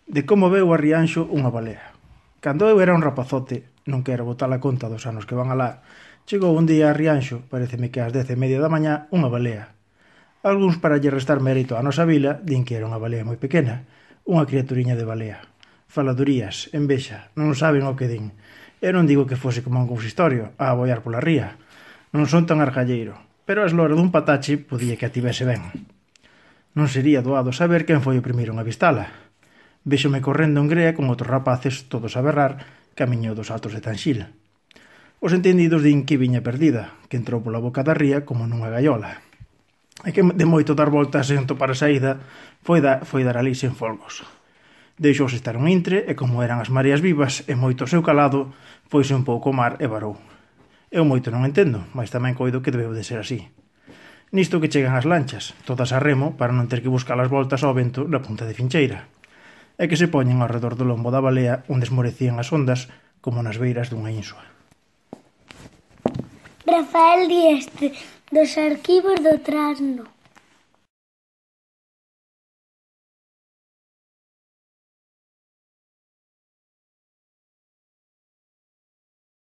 de como veu a Rianxo unha balea. Cando eu era un rapazote, non quero botar a conta dos anos que van alá, chegou un día a Rianxo, pareceme que ás 10:30 da mañá, unha balea. Algúns, para lle restar mérito á nosa vila, din que era unha balea moi pequena, unha criaturiña de balea. Faladurías, envexa, non saben o que din. Eu non digo que fose como un consistorio, a aboiar pola ría. Non son tan argalleiro, pero a eslora dun patache podía que a tivese ben. Non sería doado saber quen foi o primeiro en avistala. Véxome correndo en grea con outros rapaces, todos a berrar, camiño dos altos de Tanxil. Os entendidos din que viña perdida, que entrou pola boca da ría como nunha gaiola. E que de moito dar voltas sen topar a saída, foi dar ali sen folgos. Deixouse estar un intre e como eran as mareas vivas e moito o seu calado, foise un pouco ao mar e varou. Eu moito non entendo, mas tamén coido que debeu de ser así. Nisto que chegan as lanchas, todas a remo para non ter que buscar as voltas ao vento na punta de Fincheira, e que se poñen ao redor do lombo da balea onde esmorecían as ondas como nas beiras dunha insua. Rafael Dieste, dos arquivos do Trasno.